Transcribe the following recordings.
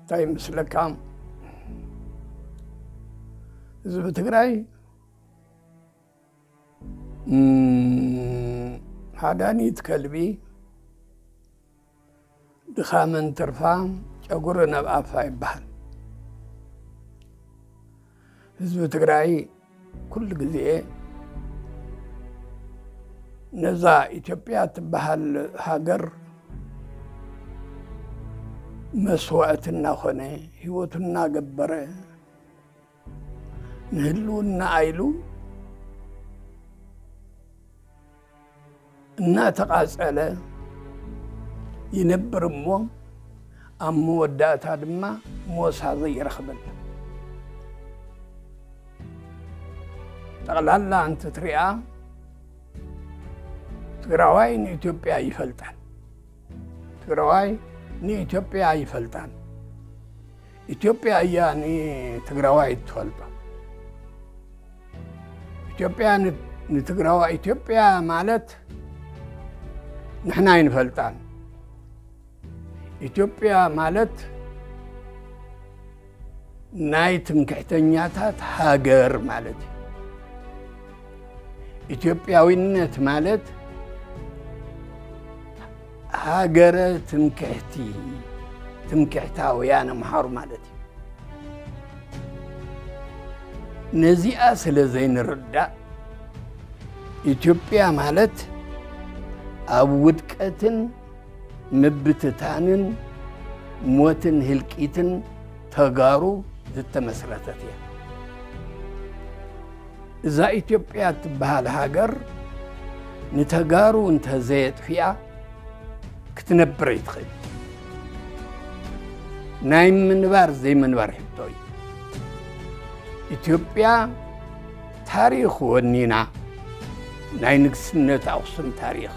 እንታይ ይመስለካ? ህዝቢ ትግራይ፣ እም፣ ሃዳኒት ከልቢ ድኻመን ትርፋ ጨጉሪ ናብ ኣፋ ይበሃል። ህዝቢ ትግራይ ኩሉ ግዜ ነዛ ኢትዮጵያ ትበሃል ሃገር መስዋእቲ እናኾነ፣ ህይወቱ እናገበረ፣ ንህልውና ኢሉ እናተቓጸለ ይነብር እሞ፣ ኣብ መወዳእታ ድማ ሞሳ ዘይረኽበላ። ጠቕላላ እንትትሪኣ፣ ትግራዋይ ንኢትዮጵያ ይፈልጣን፣ ትግራዋይ ንኢትዮጵያ ይፈልጣን። ኢትዮጵያ እያ ንትግራዋይ እትፈልጦ። ኢትዮጵያ ን-፣ ንትግራዋይ፣ ኢትዮጵያ ማለት ንሕና ኣይንፈልጣን። ኢትዮጵያ ማለት ናይ ትምክሕተኛታት ሃገር ማለት እዩ። ኢትዮጵያዊነት ማለት ሃገረ ትምክሕቲ፣ ትምክሕታውያን ኣምሓሩ ማለት እዩ። ነዚኣ ስለ ዘይንርዳእ፣ ኢትዮጵያ ማለት ኣብ ውድቀትን ምብትታንን ሞትን ህልቂትን ተጋሩ ዝተመስረተት እያ። እዛ ኢትዮጵያ እትበሃል ሃገር ንተጋሩ እንተዘየጥፊኣ ክትነብር ኣይትኽእል። ናይ ምንባር ዘይምንባር ሕቶ እዩ። ኢትዮጵያ ታሪኽ ወኒና፣ ናይ ንግስነት ኣኽሱም ታሪኽ፣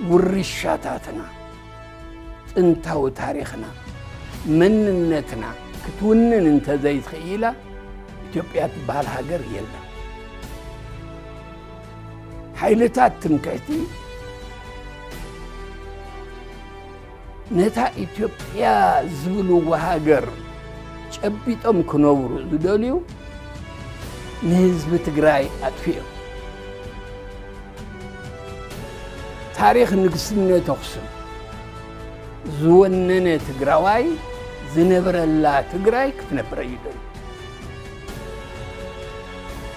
ውርሻታትና፣ ጥንታዊ ታሪኽና፣ መንነትና ክትውንን እንተዘይትኽኢላ፣ ኢትዮጵያ ትበሃል ሃገር የለን። ሓይልታት ትምክሕቲ ነታ ኢትዮጵያ ዝብልዋ ሃገር ጨቢጦም ክነብሩ ዝደልዩ ንህዝቢ ትግራይ ኣጥፊኦም። ታሪኽ ንግስነት ኣኽሱም ዝወነነ ትግራዋይ ዝነብረላ ትግራይ ክትነብር እዩ ደልዩ።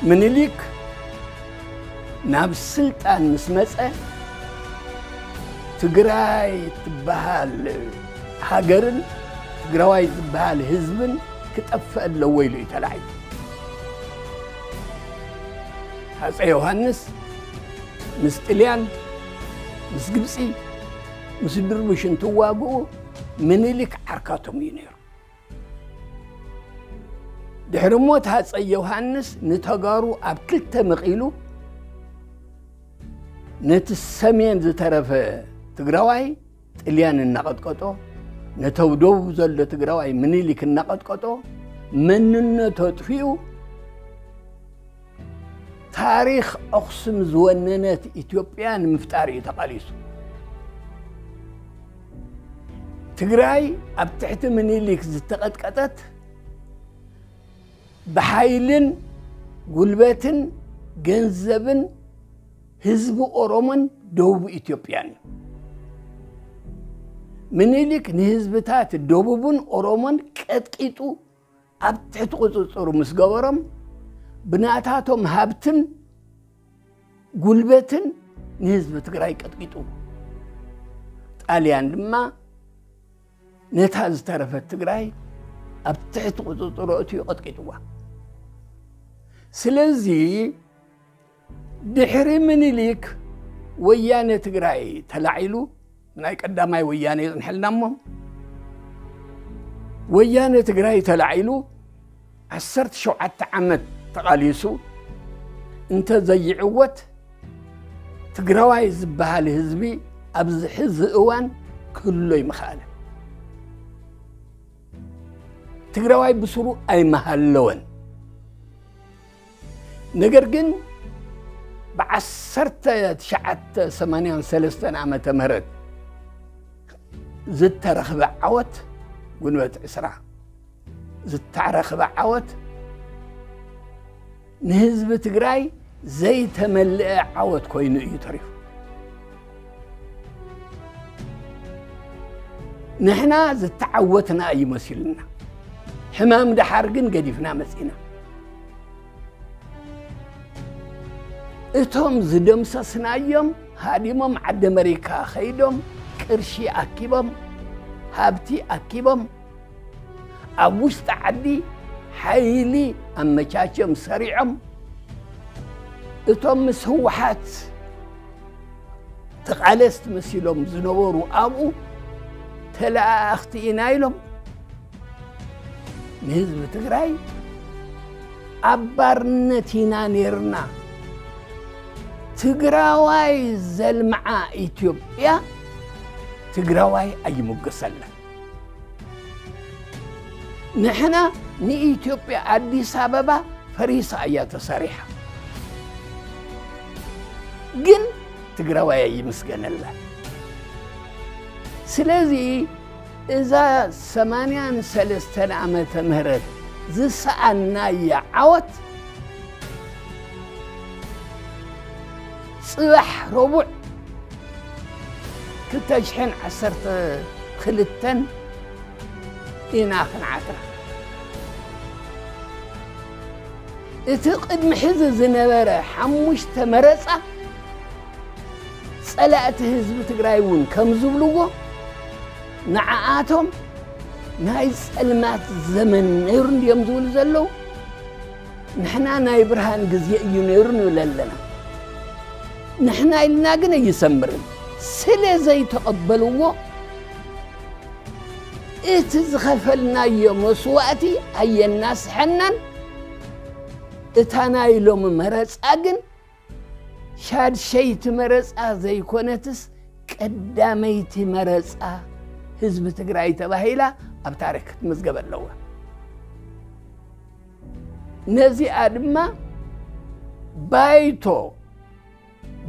ምኒልክ ናብ ስልጣን ምስ መጸ፣ ትግራይ ትበሃል ሃገርን ትግራዋይ ዝበሃል ህዝብን ክጠፍእ ኣለዎ ኢሉ እዩ ተላዒሉ። ሃፀይ ዮሃንስ ምስ ጥልያን፣ ምስ ግብፂ፣ ምስ ድርቡሽ እንትዋግኡ ምኒልክ ዓርካቶም እዩ ነይሩ። ድሕሪ ሞት ሃፀይ ዮሃንስ ንተጋሩ ኣብ ክልተ መቒሉ ነቲ ሰሜን ዝተረፈ ትግራዋይ ጥልያን እናቐጥቀጦ፣ ነቲ ኣብ ደቡብ ዘሎ ትግራዋይ ምኒልክ እናቐጥቀጦ፣ መንነቱ ኣጥፊኡ፣ ታሪኽ ኣኽሱም ዝወነነት ኢትዮጵያ ንምፍጣር እዩ ተቓሊሱ። ትግራይ ኣብ ትሕቲ ምኒልክ ዝተቐጥቀጠት ብሓይልን ጉልበትን ገንዘብን ህዝቢ ኦሮሞን ደቡብ ኢትዮጵያን እዩ። ምኒልክ ንህዝብታት ደቡብን ኦሮሞን ቀጥቂጡ ኣብ ትሕቲ ቁፅፅሩ ምስ ገበሮም፣ ብናታቶም ሃብትን ጉልበትን ንህዝቢ ትግራይ ቀጥቂጡ። ጣልያን ድማ ነታ ዝተረፈት ትግራይ ኣብ ትሕቲ ቁፅፅሩ ኣእትዩ ቀጥቂጥዋ። ስለዚ ድሕሪ ምኒልክ ወያነ ትግራይ ተላዒሉ፣ ናይ ቀዳማይ ወያነ ይጽንሐልና እሞ፣ ወያነ ትግራይ ተላዒሉ ዓሰርተ ሸውዓተ ዓመት ተቓሊሱ እንተ ዘይዕወት፣ ትግራዋይ ዝበሃል ህዝቢ ኣብዚ ሕዚ እዋን ክህሎ ይምኸኣለ። ትግራዋይ ብስሩ ኣይመሃለወን። ነገር ግን ብዓሰርተ ትሽዓተ ሰማንያን ሰለስተን ዓመተ ምህረት ዝተረኽበ ዓወት፣ ግንቦት ዕስራ ዝተረኽበ ዓወት ንህዝቢ ትግራይ ዘይተመልአ ዓወት ኮይኑ እዩ ተሪፉ። ንሕና ዝተዓወትና እዩ መሲሉና። ሕማም ደሓር ግን ገዲፍና መጺና። እቶም ዝደምሰስናዮም ሃዲሞም ዓዲ ኣመሪካ ኸይዶም፣ ቅርሺ ኣኪቦም፣ ሃብቲ ኣኪቦም፣ ኣብ ውሽጢ ዓዲ ሓይሊ ኣመቻችዮም ሰሪዖም፣ እቶም ምስ ህወሓት ተቓለስቲ መሲሎም ዝነበሩ ኣብኡ ተለኣኣኽቲ ኢና ኢሎም ንህዝቢ ትግራይ ኣብ ባርነት ኢና ነይርና። ትግራዋይ ዘልምዓ ኢትዮጵያ ትግራዋይ ኣይምጎሰላን። ንሕና ንኢትዮጵያ ኣዲስ ኣበባ ፈሪሳ እያ ተሰሪሓ። ግን ትግራዋይ ኣይምስገነላን። ስለዚ እዛ ሰማንያን ሰለስተን ዓመተ ምህረት ዝሰኣናያ ዓወት ጽባሕ ረቡዕ ክልተ ሽሕን ዓሰርተ ክልተን ኢና ክንዓትራ። እቲ ቅድሚ ሕዚ ዝነበረ ሓሙሽተ መረጻ ጸላእቲ ህዝቢ ትግራይ እውን ከም ዝብልዎ ንዓኣቶም ናይ ጸልማት ዘመን ነይሩ እንድዮም ዝብሉ ዘለዉ። ንሕና ናይ ብርሃን ግዜ እዩ ነይሩ ንብል ኣለና። ንሕና ኢልና ግን ኣይሰምርን። ስለ ዘይተቐበልዎ እቲ ዝኸፈልናዮ መስዋእቲ ኣየናስሐናን። እታ ናይ ሎሚ መረጻ ግን ሻድሸይቲ መረጻ ዘይኮነትስ ቀዳመይቲ መረጻ ህዝቢ ትግራይ ተባሂላ ኣብ ታሪክ ክትምዝገብ ኣለዋ። ነዚኣ ድማ ባይቶ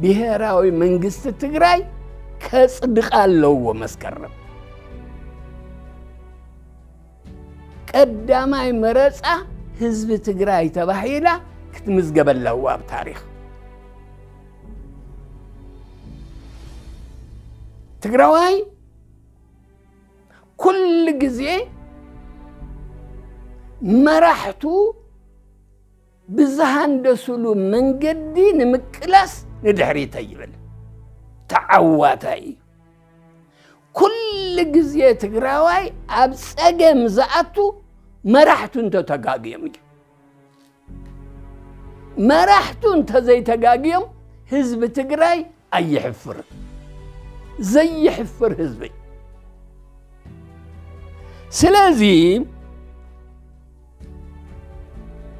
ብሄራዊ መንግስቲ ትግራይ ከጽድቓ ኣለዎ። መስከረም ቀዳማይ መረጻ ህዝቢ ትግራይ ተባሂላ ክትምዝገብ ኣለዋ ኣብ ታሪኽ። ትግራዋይ ኩሉ ግዜ መራሕቱ ብዝሃንደሱሉ መንገዲ ንምቅላስ ንድሕሪት ኣይብል። ተዓዋታይ እዩ። ኩሉ ግዜ ትግራዋይ ኣብ ጸገም ዝኣቱ መራሕቱ እንተተጋግዮም እዩ። መራሕቱ እንተዘይተጋግዮም ህዝቢ ትግራይ ኣይሕፍርን። ዘይሕፍር ህዝቢ። ስለዚ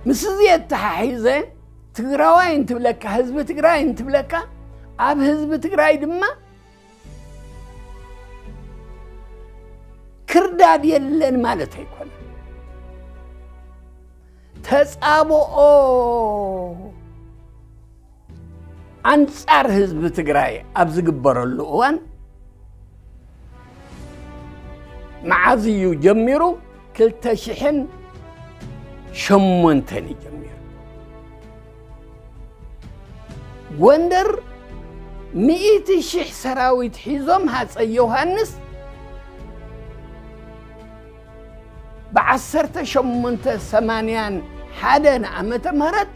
ምስ እዚ የተሓሒዘ ትግራዋይ እንትብለካ፣ ህዝቢ ትግራይ እንትብለካ፣ ኣብ ህዝቢ ትግራይ ድማ ክርዳድ የለን ማለት ኣይኮነን። ተጻብኦ ኣንጻር ህዝቢ ትግራይ ኣብ ዝግበረሉ እዋን መዓዝ እዩ ጀሚሩ? ክልተ ሽሕን ሸሞንተን እዩ ጀሚሩ። ጎንደር ሚእቲ ሽሕ ሰራዊት ሒዞም ሃፀይ ዮሃንስ ብዓሰርተ ሸሞንተ ሰማንያን ሓደን ዓመተ ምህረት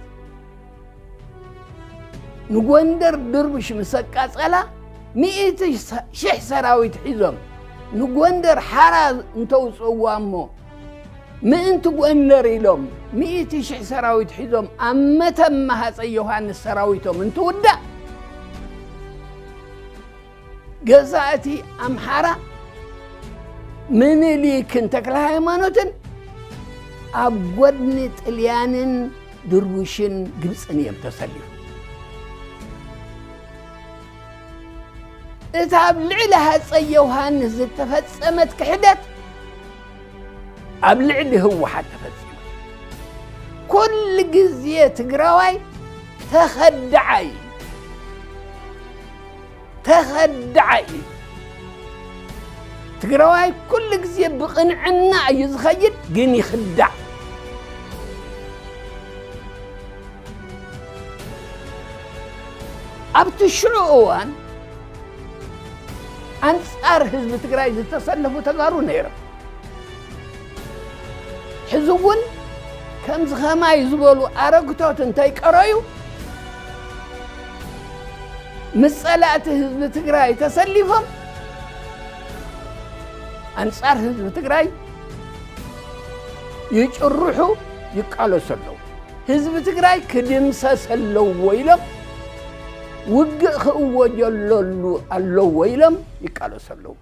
ንጎንደር ድርብሽ ምስ ኣቃጸላ፣ ሚእቲ ሽሕ ሰራዊት ሒዞም ንጎንደር ሓራ እንተውፅእዋ እሞ፣ ምእንቲ ጎንደር ኢሎም ሚእቲ ሽሕ ሰራዊት ሒዞም ኣብ መተማ ሃፀይ ዮሃንስ ሰራዊቶም እንትውዳእ፣ ገዛእቲ ኣምሓራ ምኒልክን ተክለ ሃይማኖትን ኣብ ጎድኒ ጥልያንን ድርቡሽን ግብፅን እዮም ተሰሊፎም። እታ ኣብ ልዕሊ ሃፀይ ዮሃንስ ዝተፈፀመት ክሕደት ኣብ ልዕሊ ህወሓት ተፈፂማ። ኩሉ ግዜ ትግራዋይ ተኸዳዓይ እዩ። ተኸዳዓይ እዩ። ትግራዋይ ኩሉ ግዜ ብቕንዕና እዩ ዝኸይድ፣ ግን ይኽዳዕ። ኣብቲ ሽዑ እዋን ኣንጻር ህዝቢ ትግራይ ዝተሰለፉ ተጋሩ ነይሮም። ሕዚ እውን ከምዚ ኸማይ ዝበሉ ኣረግቶት እንተይቀረዩ፣ ምስ ጸላእቲ ህዝቢ ትግራይ ተሰሊፎም ኣንጻር ህዝቢ ትግራይ ይጭርሑ፣ ይቃለሱ ኣለዉ። ህዝቢ ትግራይ ክድምሰስ ኣለዎ ኢሎም፣ ውግእ ክእወጀለሉ ኣለዎ ኢሎም ይቃለሱ ኣለዉ።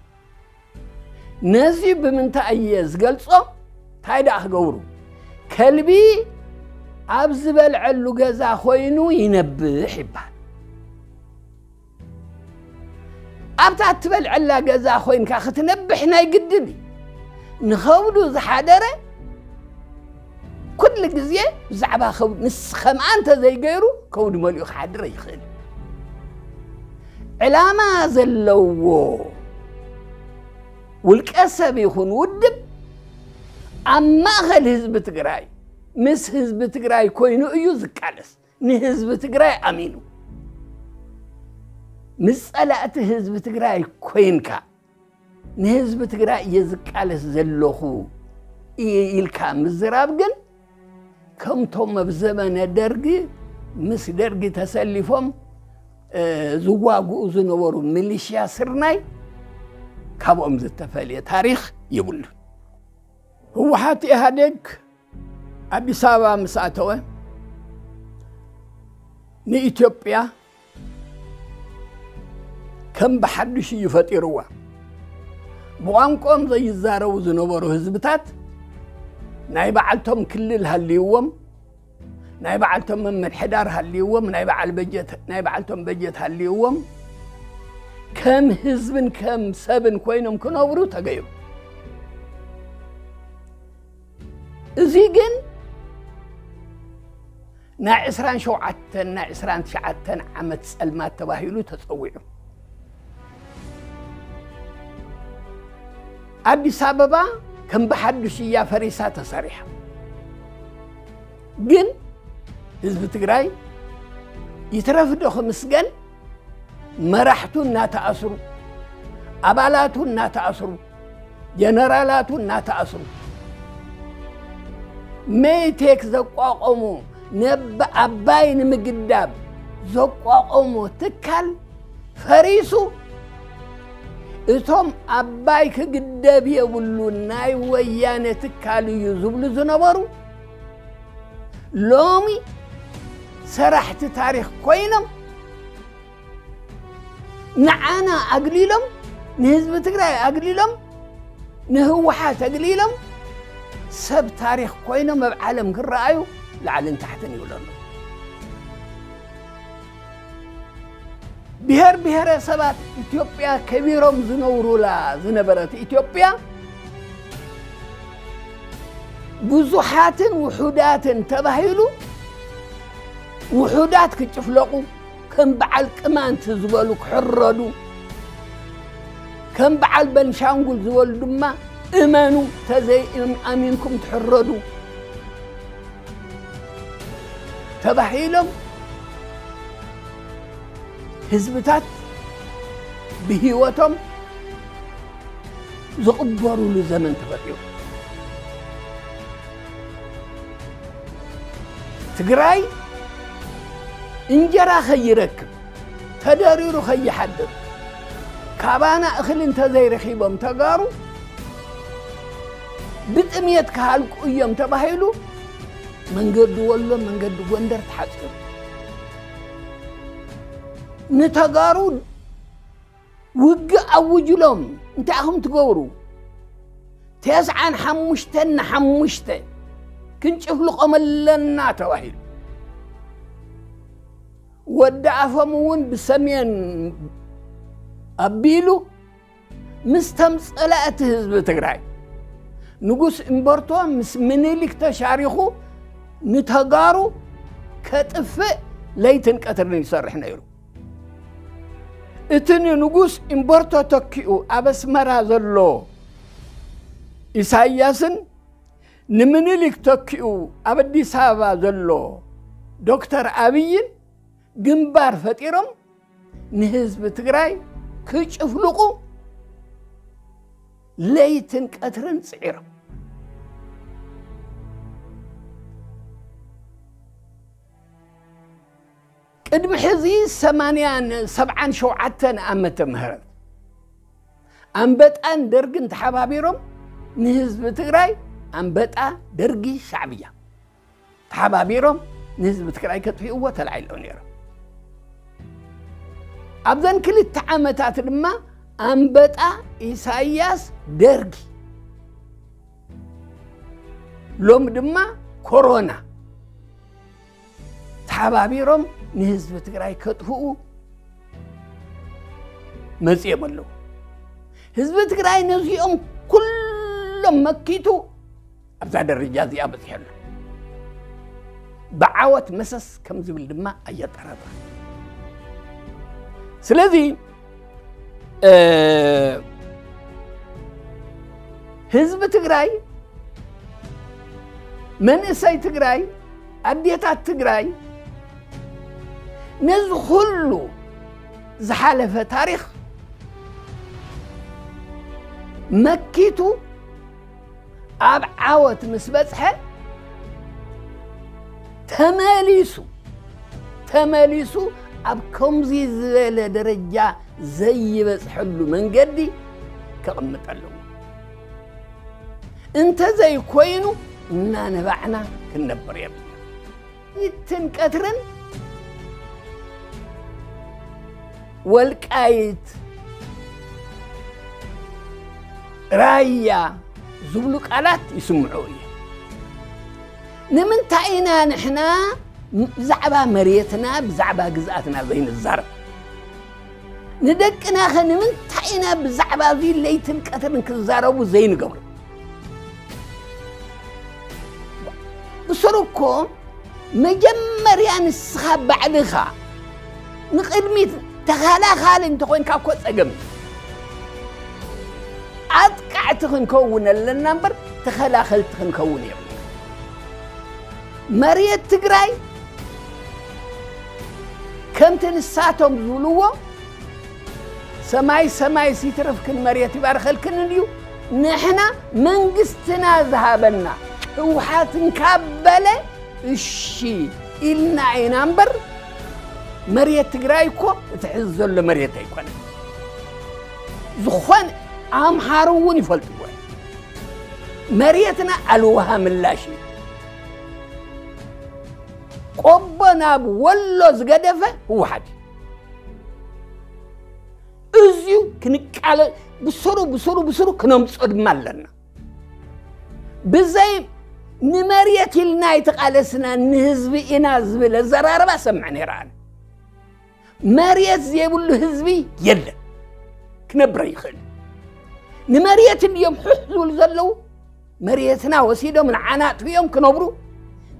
ነዚ ብምንታይ እየ ዝገልጾ? እንታይ ደኣ ክገብሩ? ከልቢ ኣብ ዝበልዐሉ ገዛ ኮይኑ ይነብሕ ይበሃል። ኣብታ እትበልዐላ ገዛ ኮይንካ ክትነብሕ ናይ ግድን እዩ። ንኸብዱ ዝሓደረ ኩሉ ግዜ ብዛዕባ ከብዱ፣ ንስ-፣ ከምኣ እንተዘይገይሩ ከብዱ መሊኡ ክሓድር ኣይኽእል። ዕላማ ዘለዎ ውልቀ ሰብ ይኹን ውድብ ኣብ ማእኸል ህዝቢ ትግራይ፣ ምስ ህዝቢ ትግራይ ኮይኑ እዩ ዝቃለስ። ንህዝቢ ትግራይ ኣሚኑ፣ ምስ ጸላእቲ ህዝቢ ትግራይ ኮይንካ፣ ንህዝቢ ትግራይ እየ ዝቃለስ ዘለኹ ኢ-፣ ኢልካ ምዝራብ ግን፣ ከምቶም ኣብ ዘመነ ደርጊ ምስ ደርጊ ተሰሊፎም፣ እ፣ ዝዋግኡ ዝነበሩ ሚሊሽያ ስርናይ፣ ካብኦም ዝተፈልየ ታሪኽ የብሉን። ህወሓት ኢህኣዴግ ኣዲስ ኣበባ ምስ ኣተወ፣ ንኢትዮጵያ ከም ብሓድሽ እዩ ፈጢርዋ። ብቋንቋኦም ዘይዛረቡ ዝነበሩ ህዝብታት ናይ በዓልቶም ክልል ሃልይዎም፣ ናይ በዓልቶም ምምሕዳር ሃልይዎም፣ ናይ በዓል በጀት፣ ናይ በዓልቶም በጀት ሃልይዎም፣ ከም ህዝብን ከም ሰብን ኮይኖም ክነብሩ ተገይሩ። እዚ ግን ናይ ዕስራን ሸውዓተን፣ ናይ ዕስራን ትሽዓተን ዓመት ጸልማት ተባሂሉ ተጸዊዑ። ኣዲስ ኣበባ ከም ብሓድሽ እያ ፈሪሳ ተሰሪሓ። ግን ህዝቢ ትግራይ ይትረፍ ዶ ክምስገን፣ መራሕቱ እናተኣስሩ፣ ኣባላቱ እናተኣስሩ፣ ጀነራላቱ እናተኣስሩ፣ ሜቴክ ዘቋቋሞ፣ ነብ-፣ ኣባይ ንምግዳብ ዘቋቋሞ ትካል ፈሪሱ፣ እቶም ኣባይ ክግደብ የብሉን፣ ናይ ወያነ ትካል እዩ ዝብሉ ዝነበሩ፣ ሎሚ ሰራሕቲ ታሪኽ ኮይኖም፣ ንዓና ኣግሊሎም፣ ንህዝቢ ትግራይ ኣግሊሎም፣ ንህወሓት ኣግሊሎም፣ ሰብ ታሪኽ ኮይኖም ኣብ ዓለም ክረኣዩ ላዕልን ታሕትን ይብሉ ኣለዉ። ብሔር ብሔረሰባት ኢትዮጵያ ከቢሮም ዝነብሩላ ዝነበረት ኢትዮጵያ፣ ብዙሓትን ውሑዳትን ተባሂሉ፣ ውሑዳት ክጭፍለቑ፣ ከም በዓል ቅማንት ዝበሉ ክሕረዱ፣ ከም በዓል በንሻንጉል ዝበሉ ድማ እመኑ፣ ተዘይ-፣ ኣሚንኩም ትሕረዱ ተባሂሎም ህዝብታት ብህይወቶም ዝቕበሩሉ ዘመን ተፈጢሩ። ትግራይ እንጀራ ከይረክብ፣ ተደሪሩ ከይሓድር፣ ካባና እኽሊ እንተዘይረኺቦም ተጋሩ ብጥምየት ክሃልቁ እዮም ተባሂሉ፣ መንገዲ ወሎ፣ መንገዲ ጎንደር ተሓፂሩ። ንተጋሩ ውግእ ኣውጅሎም፣ እንታይ ኢኹም ትገብሩ? ተስዓን ሓሙሽተን ንሓሙሽተ ክንጭፍልቖም ኣለና ተባሂሉ። ወዲ ኣፎም እውን ብሰሜን ኣቢሉ፣ ምስቶም ጸላእቲ ህዝቢ ትግራይ፣ ንጉስ እምበርቶ ምስ ምኒልክ ተሻሪኹ ንተጋሩ ከጥፍእ ለይትን ቀትርን ይሰርሕ ነይሩ። እቲ ንንጉስ ኢምበርቶ ተኪኡ ኣብ ኣስመራ ዘሎ ኢሳያስን ንምኒልክ ተኪኡ ኣብ ኣዲስ ኣበባ ዘሎ ዶክተር ኣብይን ግንባር ፈጢሮም ንህዝቢ ትግራይ ክጭፍልቑ ለይትን ቀትርን ጽዒሮም። ቅድሚ ሕዚ ሰማንያን ሰብዓን ሸውዓተን ዓመተ ምህረት ኣንበጣን ደርግን ተሓባቢሮም ንህዝቢ ትግራይ ኣንበጣ፣ ደርጊ፣ ሻዕብያ ተሓባቢሮም ንህዝቢ ትግራይ ከጥፍእዎ ተላዒሎም ነይሮም። ኣብዘን ክልተ ዓመታት ድማ ኣንበጣ፣ ኢሳያስ፣ ደርጊ፣ ሎም ድማ ኮሮና ተሓባቢሮም ንህዝቢ ትግራይ ከጥፍኡ መፂኦም ኣለዉ። ህዝቢ ትግራይ ነዚኦም ኩሎም መኪቱ ኣብዛ ደረጃ እዚኣ በፂሑ ኣሎ። ብዓወት መሰስ ከም ዝብል ድማ ኣየጠራጥር። ስለዚ እ፣ ህዝቢ ትግራይ፣ መንእሰይ ትግራይ፣ ኣዴታት ትግራይ ነዚ ኩሉ ዝሓለፈ ታሪኽ መኪቱ ኣብ ዓወት ምስ በጽሐ ተመሊሱ ተመሊሱ ኣብ ከምዚ ዝበለ ደረጃ ዘይበጽሐሉ መንገዲ ከቕምጥ ኣለዎ። እንተዘይኮይኑ እናነባዕና ክንነብር የብልና። ይትን ቀትርን ወልቃይት፣ ራያ ዝብሉ ቃላት ይስምዑ እዮም። ንምንታይ ኢና ንሕና ብዛዕባ መሬትና፣ ብዛዕባ ግዝኣትና ዘይንዛረብ? ንደቅናኸ ንምንታይ ኢና ብዛዕባ እዚ ለይትን ቀትርን ክዛረቡ ዘይንገብሮ? ብስሩ እኮ መጀመርያ ንስኻ ባዕልኻ ንቕድሚት ተኸላኻሊ እንተኾይንካ እኮ ጸገም እዩ። ኣጥቃዕቲ ክንከውን ኣለና እምበር ተኸላኸልቲ ክንከውን የብልና። መሬት ትግራይ ከምቲ ንሳቶም ዝብልዎ ሰማይ ሰማይ ሲትርፍክን መሬት ይባርኸልክን እንድዩ። ንሕና መንግስትና ዝሃበና ህወሓት እንካበለ እሺ ኢልና ኢና እምበር መሬት ትግራይ እኮ እቲ ሕዚ ዘሎ መሬት ኣይኮነን። ዝኾነ ኣምሓሩ እውን ይፈልጥዎ እዮም። መሬትና ኣልውሃ ምላሽ እዩ። ቆቦ ናብ ወሎ ዝገደፈ ህወሓት እዩ። እዚዩ ክንቃለ ብስሩ ብስሩ ብስሩ ክነምጾ ድማ ኣለና። ብዘይ ንመሬት ኢልና ኣይተቓለስና ንህዝቢ ኢና ዝብል ኣዘራርባ ሰምዕ ነይረ ኣነ። መሬት ዘይብሉ ህዝቢ የለን፣ ክነብር ይኽእል። ንመሬት እንድዮም ሕሕ ዝብሉ ዘለዉ። መሬትና ወሲዶም ንዓና ኣጥፊኦም ክነብሩ፣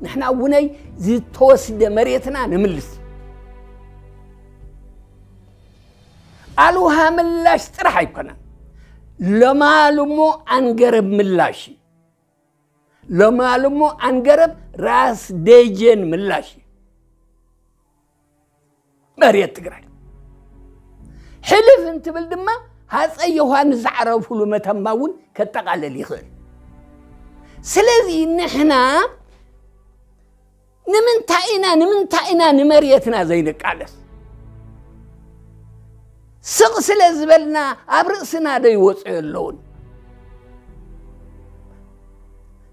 ንሕና እውነይ ዝተወስደ መሬትና ንምልስ። ኣልውሃ ምላሽ ጥራሕ ኣይኮነን፣ ለማልሞ ኣንገረብ ምላሽ እዩ። ለማልሞ ኣንገረብ ራስ ደጀን ምላሽ እዩ። መሬት ትግራይ ሕልፍ እንትብል ድማ ሃፀይ ዮሃንስ ዝዓረፉሉ መተማ እውን ከጠቓልል ይኽእል። ስለዚ ንሕና ንምንታይ ኢና፣ ንምንታይ ኢና ንመሬትና ዘይንቃለስ? ስቕ ስለ ዝበልና ኣብ ርእስና ዶ ይወፅኡ ኣለውን?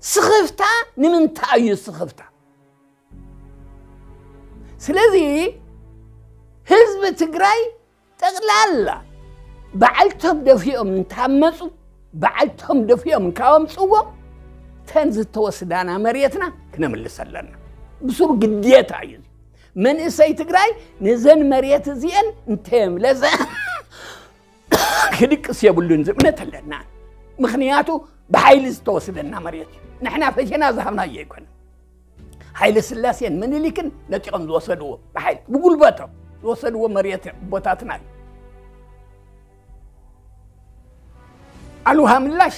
ስኽፍታ ንምንታይ እዩ ስኽፍታ? ስለዚ ህዝቢ ትግራይ ጠቕላላ በዓልቶም ደፊኦም እንታመፁ፣ በዓልቶም ደፊኦም እንካወምፅዎ፣ ተን ዝተወስዳና መሬትና ክነምልስ ኣለና። ብሱሩ ግዴታ እዩ። መንእሰይ ትግራይ ነዘን መሬት እዚአን እንተየምለሰ ክድቅስ የብሉን ዝእምነት ኣለና። ምኽንያቱ ብሓይሊ ዝተወስደና መሬት እዩ። ንሕና ፈሸና ዝሃብናዮ ኣይኮነን። ሃይለ ስላሴን ምኒልክን ነጢቖም ዝወሰድዎ ብሓይሊ፣ ብጉልበቶም ዝወሰድዎ መሬት ቦታትና እዩ። ኣልውሃ ምላሽ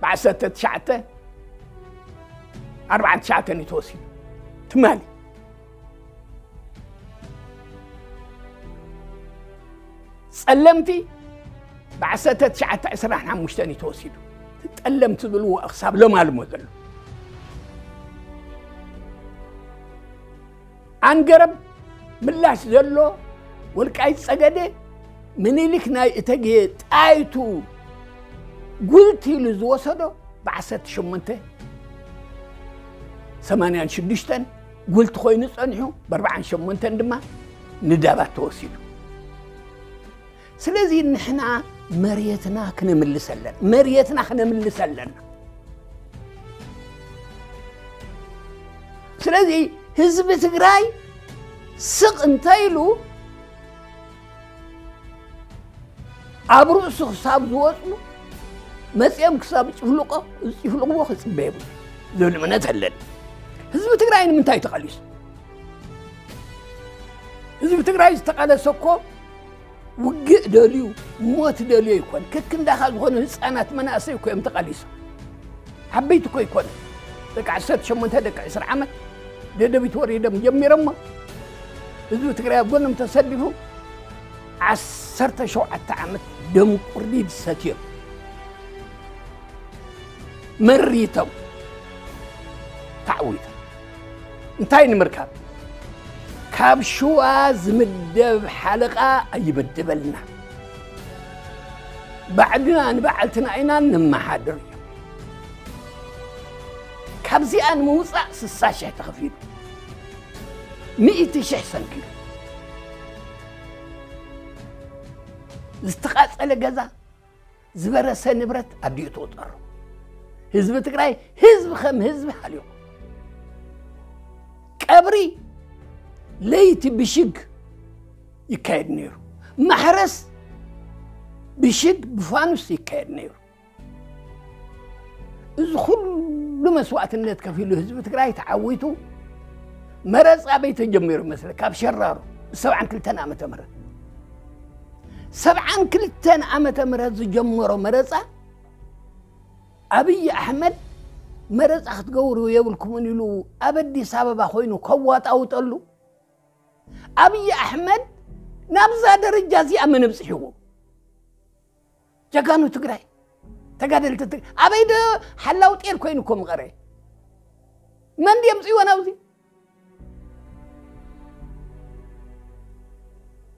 ብዓሰርተ ትሽዓተ ኣርብዓን ትሽዓተን እዩ ተወሲዱ። ትማሊ ጸለምቲ ብዓሰርተ ትሽዓተ ዕስራን ሓሙሽተን እዩ ተወሲዱ። እቲ ጠለምቲ ዝብልዎ ክሳብ ሎማልሞ ዘሎ ኣንገረብ ምላሽ ዘሎ ወልቃይት ጸገዴ ምኒልክ ናይ እተጌ ጣይቱ ጉልት ኢሉ ዝወሰዶ ብዓሰርተ ሸሞንተ ሰማንያን ሽዱሽተን ጉልት ኮይኑ ጸኒሑ፣ ብኣርብዓን ሸሞንተን ድማ ንዳባት ተወሲዱ። ስለዚ ንሕና መሬትና ክነምልስ ኣለና፣ መሬትና ክነምልስ ኣለና። ስለዚ ህዝቢ ትግራይ ስቕ እንተ ኢሉ ኣብ ርእሱ ክሳብ ዝወፅኡ መፂኦም ክሳብ ጭፍልቆ ዝጭፍልቕዎ ክፅበ የብሉ ዝብል እምነት ኣለኒ። ህዝቢ ትግራይ ንምንታይ ተቐሊሱ? ህዝቢ ትግራይ ዝተቐለሰ እኮ ውግእ ደልዩ ሞት ደልዩ ኣይኮን። ከክንዳኻ ዝኾኑ ህፃናት መናእሰይ እኮ እዮም ተቐሊሶም። ዓበይቲ እኮ ኣይኮነ። ደቂ ዓሰርተ ሸሞንተ ደቂ ዕስራ ዓመት ደደቢት ወሪዶም ጀሚሮሞ ህዝቢ ትግራይ ኣብ ጎኖም ተሰሊፉ ዓሰርተ ሸውዓተ ዓመት ደም ቁርዲድ ሰትዮም መሪቶም ተዓዊቶም እንታይ ንምርካብ? ካብ ሽዋ ዝምደብ ሓለቓ ኣይምደበልና። ባዕልና ንባዕልትና ኢና ንመሓድር እዩ። ካብዚኣ ንምውፃእ ስሳ ሽሕ ተኸፊሉ፣ ሚእቲ ሽሕ ሰንኪሉ፣ ዝተቓፀለ ገዛ፣ ዝበረሰ ንብረት ኣዲኡ ተወጠሩ። ህዝቢ ትግራይ ህዝቢ ከም ህዝቢ ሃልዩ። ቀብሪ ለይቲ ብሽግ ይካየድ ነይሩ። ማሕረስ ብሽግ ብፋኑስ ይካየድ ነይሩ። እዚ ኩሉ መስዋእትነት ከፊሉ ህዝቢ ትግራይ ተዓዊቱ። መረፃ ኣበይ ተጀሚሩ መስለ? ካብ ሸራሮ ብሰብዓን ክልተን ዓመተ ምህረት፣ ሰብዓን ክልተን ዓመተ ምህረት ዝጀመሮ መረፃ ኣብይ ኣሕመድ መረፃ ክትገብሩ የብልኩምን ኢሉ ኣብ ኣዲስ ኣበባ ኮይኑ ከዋጣውጠሉ ኣብይ ኣሕመድ ናብዛ ደረጃ እዚኣ መን ኣብፅሕዎ? ጀጋኑ ትግራይ፣ ተጋደልቲ ትግራይ። ኣበይ ዶ ሓላው ጤል ኮይኑ እኮ ምቐረ? መን ድየምፅእዎ ናብዚ?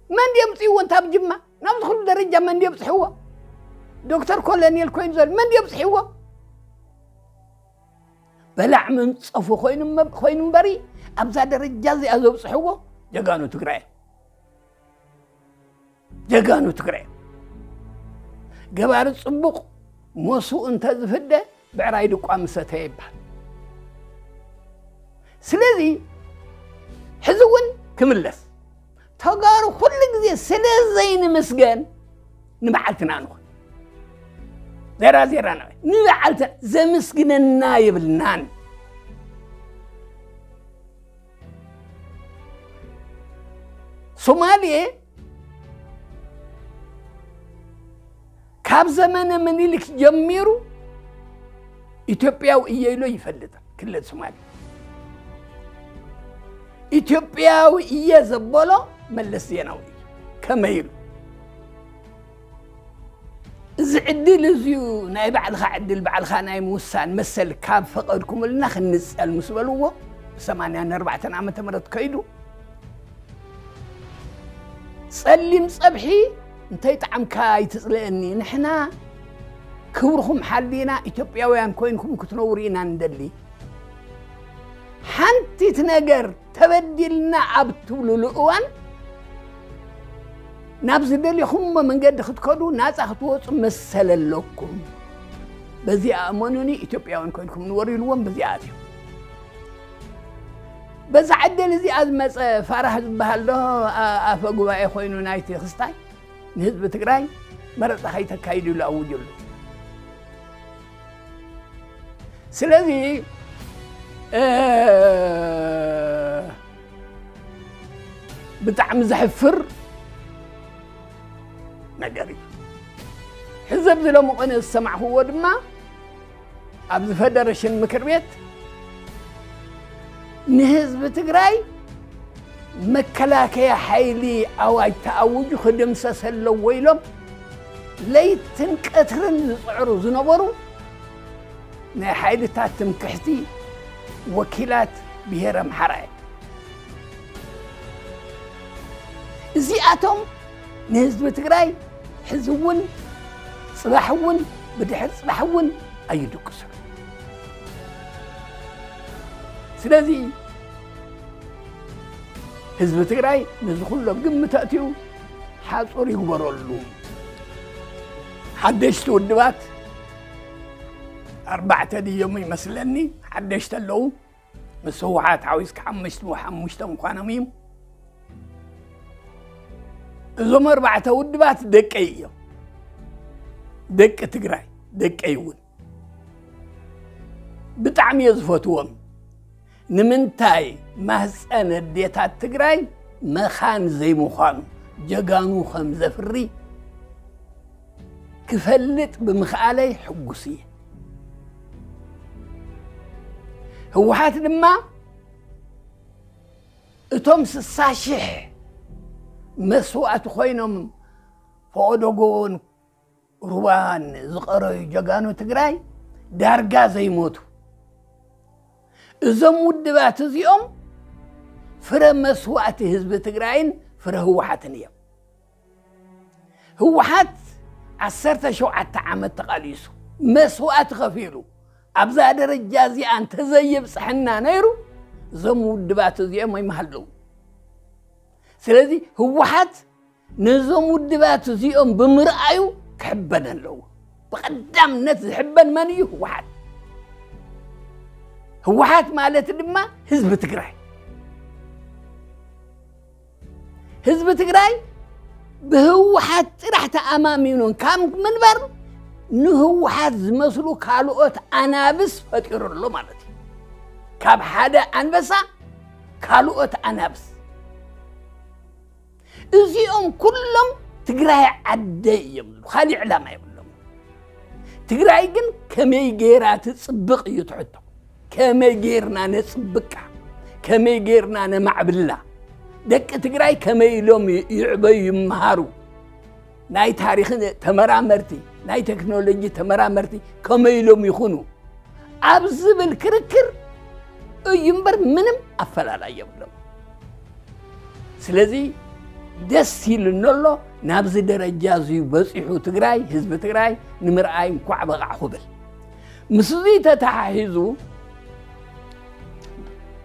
መን ድየምፅእዎ እንታብ ጅማ ናብዚ ኩሉ ደረጃ መን ድየብፅሕዎ? ዶክተር ኮሎኔል ኮይኑ ዘሎ መን ድየብፅሕዎ? በላዕ መንፀፉ ኮይኑ እመ- ኮይኑ እምበሪ ኣብዛ ደረጃ እዚኣ ዘብፅሕዎ ጀጋኑ ትግራይ፣ ጀጋኑ ትግራይ። ገባሪ ፅቡቕ ሞስኡ እንተዝፍደ ብዕራይ ድቋ ምሰተ ይባል። ስለዚ ሕዚ እውን ክምለስ ተጋሩ ኩሉ ግዜ ስለ ዘይንምስገን ንበዓልትና ንኹን። ዜራ ዜራ ንበዓልትና ዘምስግነና የብልናን። ሶማሌ ካብ ዘመነ ምኒልክ ጀሚሩ ኢትዮጵያዊ እየ ኢሎ ይፈልጥ ክልል ሶማሌ። ኢትዮጵያዊ እየ ዘበሎ መለስ ዜናዊ እዩ። ከመይ ኢሉ? እዚ ዕድል እዚዩ ናይ ባዕልኻ ዕድል ባዕልኻ ናይ ምውሳን መሰል ካብ ፈቐድኩምልና ክንጸል ምስ በልዎ ብሰማንያን ኣርባዕተን ዓመተ ምህረት ከይዱ ጸሊም ጸብሒ እንተይጠዓምካ ኣይትጽልእኒ። ንሕና ክብርኹም ሓሊና ኢትዮጵያውያን ኮይንኩም ክትነብሩ ኢና ንደሊ። ሓንቲት ነገር ተበዲልና ኣብ ትብሉሉ እዋን ናብ ዝደሊኹሞ መንገዲ ክትከዱ ናጻ ክትወጹ መሰል ኣለኩም። በዚኣ እመኑኒ ኢትዮጵያውያን ኮይንኩም ንበሩ ኢልዎም በዚኣ ኣትዮም። በዛ ዕድል እዚኣ ዝመጸ ፋራህ ዝበሃል ዶ ኣፈ ጉባኤ ኮይኑ ናይቲ ክስታይ ንህዝቢ ትግራይ መረፃ ከይተካይዱ ኢሉ ኣውጅሉ። ስለዚ ብጣዕሚ ዘሕፍር ነገር እዩ። ዘብዚ ሎሚ ቅነ ዝሰማዕክዎ ድማ ኣብዚ ፈደረሽን ምክር ቤት ንህዝቢ ትግራይ መከላከያ ሓይሊ ኣዋጅ ተኣውጁ ክድምሰስ ኣለዎ ኢሎም ለይትን ቀትርን ዝፅዕሩ ዝነበሩ ናይ ሓይልታት ትምክሕቲ ወኪላት ብሄር ኣምሓራ እዮም። እዚኣቶም ንህዝቢ ትግራይ ሕዚ እውን ፅባሕ እውን ብድሕር ፅባሕ እውን ኣይድቅሱን። ስለዚ ህዝቢ ትግራይ ነዚ ኩሎም ግምት ኣእትዩ ሓፁር ይግበረሉ። ሓደሽቲ ውድባት ኣርባዕተ ድዮም ይመስለኒ ሓደሽቲ ኣለዉ። ምስ ህወሓት ሓዊስካ ሓሙሽተ ሓሙሽተ ምዃኖም እዩ። እዞም ኣርባዕተ ውድባት ደቀይ እዮም። ደቂ ትግራይ ደቀይ እውን ብጣዕሚ እየ ዝፈትዎም። ንምንታይ ማህፀን ኣዴታት ትግራይ መኻን ዘይምዃኑ ጀጋኑ ከም ዘፍሪ ክፈልጥ ብምኽኣለይ ሕጉስ እየ። ህወሓት ድማ እቶም ስሳ ሽሕ መስዋእቲ ኮይኖም ፈቐዶ ጎቦን ሩባን ዝቐረዩ ጀጋኑ ትግራይ ዳርጋ ዘይሞቱ እዞም ውድባት እዚኦም ፍረ መስዋእቲ ህዝቢ ትግራይን ፍረ ህወሓትን እዮም። ህወሓት ዓሰርተ ሸውዓተ ዓመት ተቓሊሱ መስዋእቲ ከፊሉ ኣብዛ ደረጃ እዚኣ እንተዘየብፅሐና ነይሩ እዞም ውድባት እዚኦም ኣይምሃለዉ። ስለዚ ህወሓት ነዞም ውድባት እዚኦም ብምርኣዩ ክሕበን ኣለዎ። ብቐዳምነት ዝሕበን መን እዩ? ህወሓት። ህወሓት ማለት ድማ ህዝቢ ትግራይ። ህዝቢ ትግራይ ብህወሓት ጥራሕ ተኣማሚኑን ካብ ምንባር ንህወሓት ዝመስሉ ካልኦት ኣናብስ ፈጢሩ ኣሎ ማለት እዩ። ካብ ሓደ ኣንበሳ ካልኦት ኣናብስ። እዚኦም ኩሎም ትግራይ ዓደይ እዮም ዝብሉ፣ ካሊእ ዕላማ የብሎም። ትግራይ ግን ከመይ ገይራ ትፅብቕ እዩ ትሕቶ። ከመይ ገይርና ነፅብቃ፣ ከመይ ገይርና ነማዕብላ፣ ደቂ ትግራይ ከመይ ኢሎም ይ- ይዕበዩ ይመሃሩ፣ ናይ ታሪኽን ተመራመርቲ፣ ናይ ቴክኖሎጂ ተመራመርቲ ከመይ ኢሎም ይኹኑ ኣብ ዝብል ክርክር እዩ እምበር ምንም ኣፈላላይ የብሎም። ስለዚ ደስ ኢሉኒ ኣሎ ናብዚ ደረጃ እዚ በፂሑ ትግራይ፣ ህዝቢ ትግራይ ንምርኣይ እንኳዕ በቓዕ ክብል። ምስ እዚ ተተሓሒዙ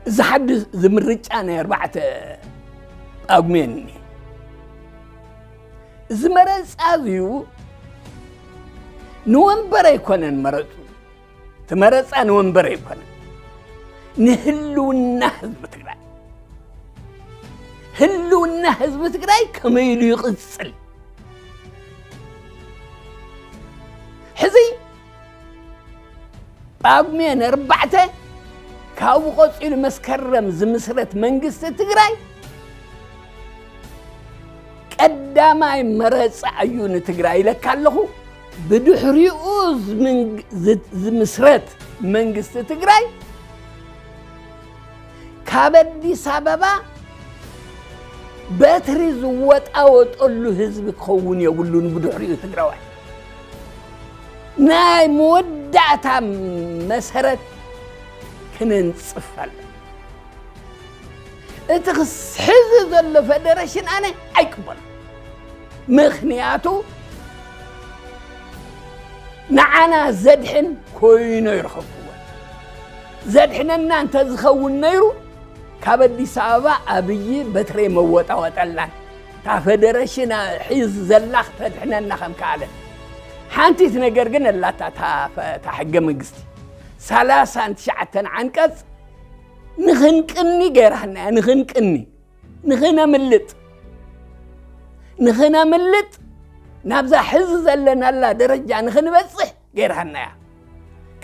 እዚ ሓድሽ እዚ ምርጫ ናይ ኣርባዕተ ጳጉሜን እኒ እዚ መረፃ እዚዩ ንወንበር ኣይኮነን መረፁ። እቲ መረፃ ንወንበር ኣይኮነን፣ ንህልውና ህዝቢ ትግራይ። ህልውና ህዝቢ ትግራይ ከመይ ኢሉ ይቕፅል? ሕዚ ጳጉሜን ኣርባዕተ ካብኡ ቀፂሉ መስከረም ዝምስረት መንግስቲ ትግራይ ቀዳማይ መረፃ እዩ ንትግራይ ኢለካ ኣለኹ። ብድሕሪኡ ዝምንግ- ዝ- ዝምስረት መንግስቲ ትግራይ ካብ ኣዲስ ኣበባ በትሪ ዝወጣወጠሉ ህዝቢ ክኸውን የብሉን። ብድሕሪኡ ትግራዋይ ናይ መወዳእታ መሰረት ክነንፅፍ ኣለና። እቲ ክስ- ሕዚ ዘሎ ፈደረሽን ኣነ ኣይቅበሎ። ምኽንያቱ ንዓና ዘድሕን ኮይኑ ይረኸብኩዎ። ዘድሕነና እንተዝኸውን ነይሩ ካብ ኣዲስ ኣበባ ኣብይ በትሬ መወጣወጠላን እታ ፈደረሽን ሒዝ ዘላ ክተድሕነና ከም ከኣለ። ሓንቲት ነገር ግን ኣላታ እታ ፈ- እታ ሕገ መንግስቲ ሰላሳን ትሽዓተን ዓንቀፅ ንኽንቅኒ ገይራና እያ። ንኽንቅኒ፣ ንኽነምልጥ፣ ንኽነምልጥ ናብዛ ሕዚ ዘለናላ ደረጃ ንኽንበፅሕ ገይራና እያ።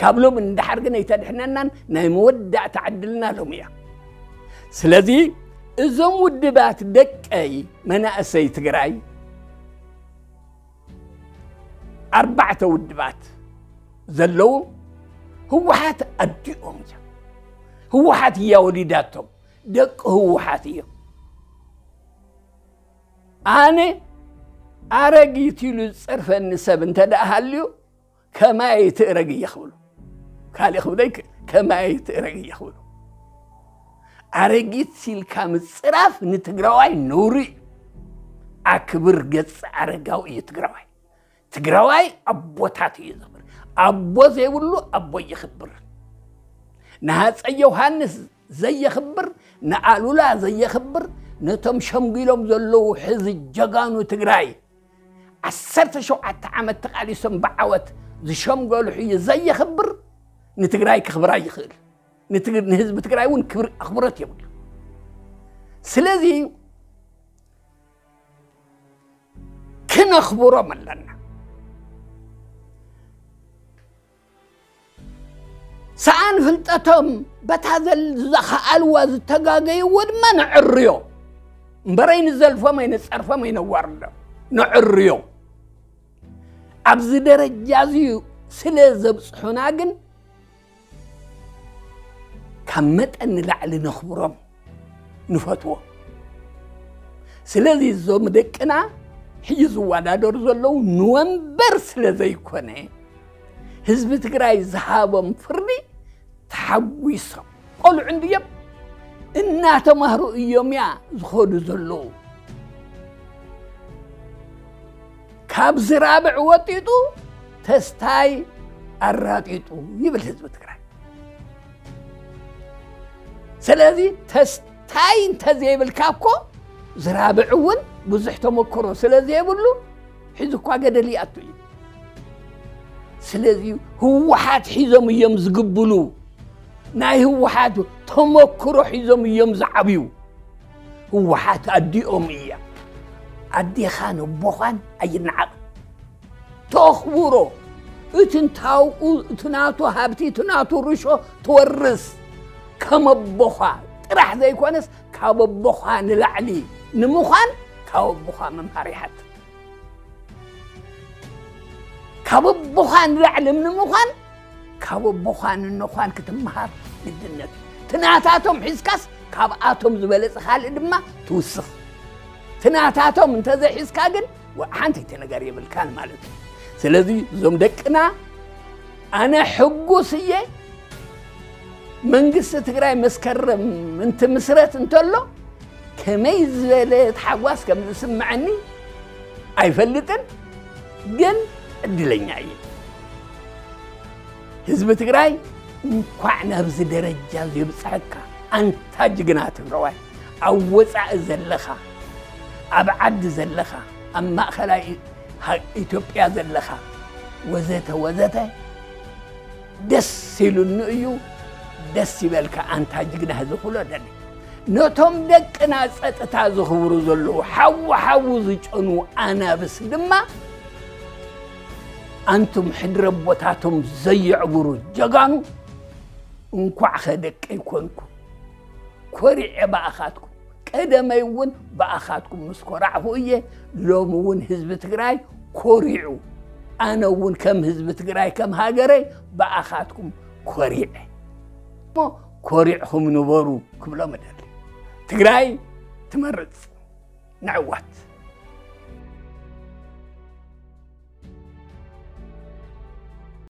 ካብ ሎም እንዳሓር ግን ኣይተድሕነናን ናይ መወዳእታ ዕድልና ሎም እያ። ስለዚ እዞም ውድባት ደቀይ መናእሰይ ትግራይ ኣርባዕተ ውድባት ዘለዉ ህወሓት ኣዲኦም እዮም። ህወሓት እያ ወሊዳቶም። ደቂ ህወሓት እዮም። ኣነ ኣረጊት ኢሉ ዝጸርፈኒ ሰብ እንተ ደኣ ሃልዩ ከማይ ትእረግ እየ ክብሉ። ካልእ ክብለይ ከማይ ትእረግ እየ ክብሉ። ኣረጊት ሲልካ ምጽራፍ ንትግራዋይ ነውሪ እዩ። ኣክብር ገጽ ኣረጋዊ እዩ ትግራዋይ። ትግራዋይ ኣቦታት እዩ ዘኽብር። ኣቦ ዘይብሉ ኣቦ የኽብር። ንሃፀይ ዮሃንስ ዘየኽብር፣ ንኣሉላ ዘየኽብር፣ ነቶም ሸምጊሎም ዘለዉ ሕዚ ጀጋኑ ትግራይ ዓሰርተ ሸውዓተ ዓመት ተቓሊሶም ብዓወት ዝሸምገሉ ሕዩ ዘየኽብር ንትግራይ ክኽብር ኣይኽእል። ንትግ- ንህዝቢ ትግራይ እውን ክብሪ ኣኽብሮት የብሉ። ስለዚ ክነኽብሮም ኣለና። ሰኣን ፍልጠቶም በታ ዘል- ዝኸኣልዋ ዝተጋገይዎ ድማ ነዕርዮ። እምበረይ ንዘልፎም ኣይነጸርፎም ኣይነዋርዶም። ነዕርዮ። ኣብዚ ደረጃ እዚ ስለ ዘብጽሑና ግን ካብ መጠን ንላዕሊ ነኽብሮም፣ ንፈትዎም። ስለዚ እዞም ደቅና ሕጂ ዝወዳደሩ ዘለዉ ንወንበር ስለ ዘይኮነ ህዝቢ ትግራይ ዝሃቦም ፍርዲ ተሓጒሶም። ቆልዑ እንድዮም እናተማህሩ እዮም እያ ዝኸዱ ዘለዉ። ካብ ዝራብዕ ወጢጡ ተስታይ ኣራጢጡ ይብል ህዝቢ ትግራይ። ስለዚ ተስታይ እንተዘይብልካ እኮ ዝራብዕ እውን ብዙሕ ተመክሮ ስለ ዘይብሉ ሕዚ እኳ ገደል ይኣቱ እዩ። ስለዚ ህወሓት ሒዞም እዮም ዝግብሉ። ናይ ህወሓት ተመክሮ ሒዞም እዮም ዝዓብዩ። ህወሓት ኣዲኦም እያ። ኣዴኻን ኣቦኻን ኣይነዓቕ። ተኽብሮ። እቲ እንታውኡ፣ እቲ ናቱ ሃብቲ፣ እቲ ናቱ ርሾ ትወርስ። ከም ኣቦኻ ጥራሕ ዘይኮነስ ካብ ኣቦኻ ንላዕሊ ንምዃን ካብ ኣቦኻ ምምሃር ይሓትት። ካብ ኣቦኻ ንላዕሊ ንምዃን ካብ ኣቦኻ ንኖዃን ክትምሃር ግድነት እዩ። ትናታቶም ሒዝካስ ካብኣቶም ዝበለጸ ካልእ ድማ ትውስኽ። ትናታቶም እንተዘይሒዝካ ግን ወ- ሓንቲ ነገር የብልካን ማለት እዩ። ስለዚ እዞም ደቅና ኣነ ሕጉስ እየ። መንግስቲ ትግራይ መስከረም እንትምስረት እንተሎ ከመይ ዝበለ ታሕጓስ ከም ዝስምዐኒ ኣይፈልጥን፣ ግን ዕድለኛ እየ። ህዝቢ ትግራይ እንኳዕ ናብዚ ደረጃ እዚ የብፅሐካ። ኣንታ ጅግና ትግራዋይ፣ ኣብ ወፃኢ ዘለኻ፣ ኣብ ዓዲ ዘለኻ፣ ኣብ ማእኸላይ ሃ- ኢትዮጵያ ዘለኻ፣ ወዘተ ወዘተ፣ ደስ ኢሉኒ እዩ። ደስ ይበልካ ኣንታ ጅግና ህዝቢ ኩሎ ደሊ። ነቶም ደቅና ጸጥታ ዝኽብሩ ዘለዉ ሓዉ ሓዉ ዝጨኑ ኣናብስ ድማ ኣንቱም ሕድረ ቦታቶም ዘየዕብሩ ጀጋኑ፣ እንኳዕ ኸ ደቀይ ኮንኩ። ኮሪዐ ብኣኻትኩም። ቀደመይ እውን ብኣኻትኩም ምስ ኮራዕኹ እየ። ሎሚ እውን ህዝቢ ትግራይ ኮሪዑ። ኣነ እውን ከም ህዝቢ ትግራይ ከም ሃገረይ ብኣኻትኩም ኮሪዐ። እሞ ኮሪዕኹም ንበሩ ክብሎም እደሊ። ትግራይ ትመርፅ። ንዕወት።